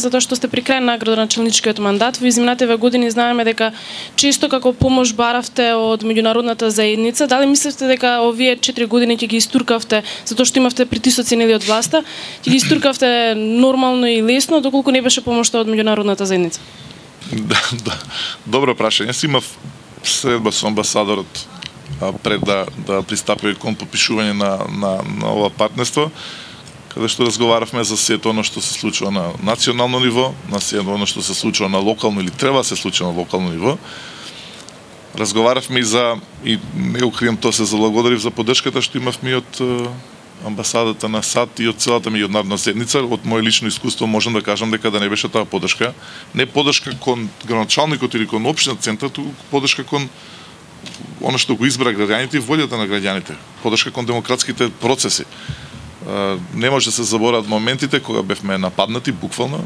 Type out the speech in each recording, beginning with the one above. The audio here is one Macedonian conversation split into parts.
затоа што сте при крај на градоначалничкиот мандат. Во изминативе години знаеме дека често како помош баравте од меѓународната заедница. Дали мислите дека овие 4 години ќе ги истуркавте затоа што имавте притисоци нели од власта, ќе ги истуркавте нормално и лесно доколку не беше помошта од меѓународната заедница? Да. Добро прашање. Си имав средба со амбасадорот пред да пристапи кон подпишување на ова партнерство, каде што разговаравме за сето оно што се случува на национално ниво, на сето оно што се случува на локално или треба да се случува на локално ниво. Разговаравме и не го крием, тоа се заблагодарив за поддршката што имавме од амбасадата на САД и од целата меѓународна заедница. Од моје лично искуство можам да кажам дека да не беше таа поддршка, не поддршка кон градоначалникот или кон општинскиот центар, туку поддршка кон оно што го избра граѓаните и волјата на граѓаните, поддршка кон демократските процеси. Не може да се забораат моментите кога бевме нападнати буквално,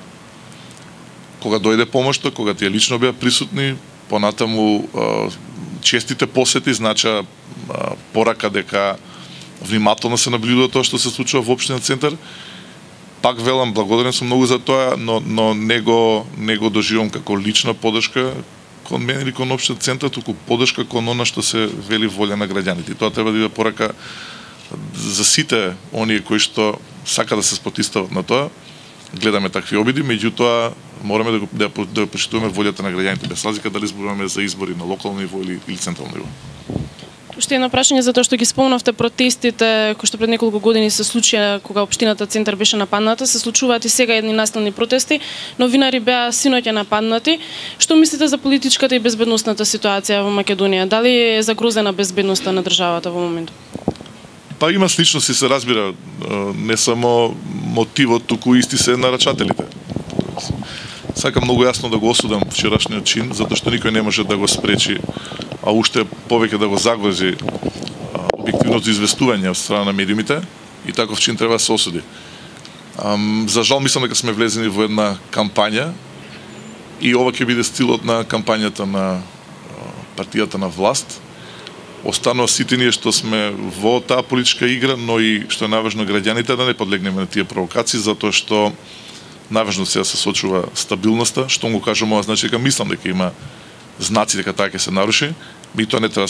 кога дојде помошта, кога тие лично беа присутни, понатаму честите посети знача порака дека внимателно се наблюдува тоа што се случува во општинскиот центар. Пак велам, благодарен сум многу за тоа, но не го доживам како лична поддршка кон мене или кон општинскиот центар, туку поддршка кон она што се вели волја на граѓаните. И тоа треба да биде порака за сите оние кои што сака да се спотистават на тоа. Гледаме такви обиди, меѓутоа мораме да почитуваме волјата на граѓаните без разлика дали зборуваме за избори на локално ниво или централно ниво. Уште едно прашање за тоа што ги спомнавте протестите кои што пред неколку години се случија кога општината центар беше нападната, се случуваат и сега едни наsilни протести, новинари беа синоќа нападнати. Што мислите за политичката и безбедносната ситуација во Македонија? Дали е загрозена безбедноста на државата во моментот? Па има сличности, се разбира, не само мотивот, туку исти се нарачателите. Сакам многу јасно да го осудам вчерашниот чин, затоа што никој не може да го спречи, а уште повеќе да го загрози објективното известување од страна на медиумите, и таков чин треба да се осуди. За жал мислам дека сме влезени во една кампања и ова ќе биде стилот на кампањата на партијата на власт. Останува сите ние што сме во таа политичка игра, но и што е најважно граѓаните да не подлегнеме на тие провокации, затоа што најважно се да се сочува стабилноста. Што го кажам ова, значи дека мислам дека има знаци дека таа ќе се наруши, и тоа не треба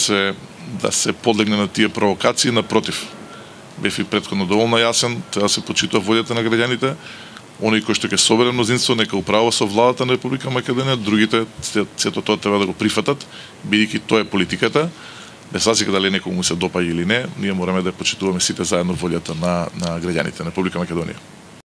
да се подлегне на тие провокации, напротив. Бев и претходно доволно јасен, треба да се почитува волјата на граѓаните, оние кои што ќе собере мнозинство нека управува со владата на Република Македонија, другите сето тоа треба да го прифатат, бидејќи тоа е политиката. Без разлика дали некому се допаѓа или не, ние мораме да почитуваме сите заедно волјата на граѓаните на Република Македонија.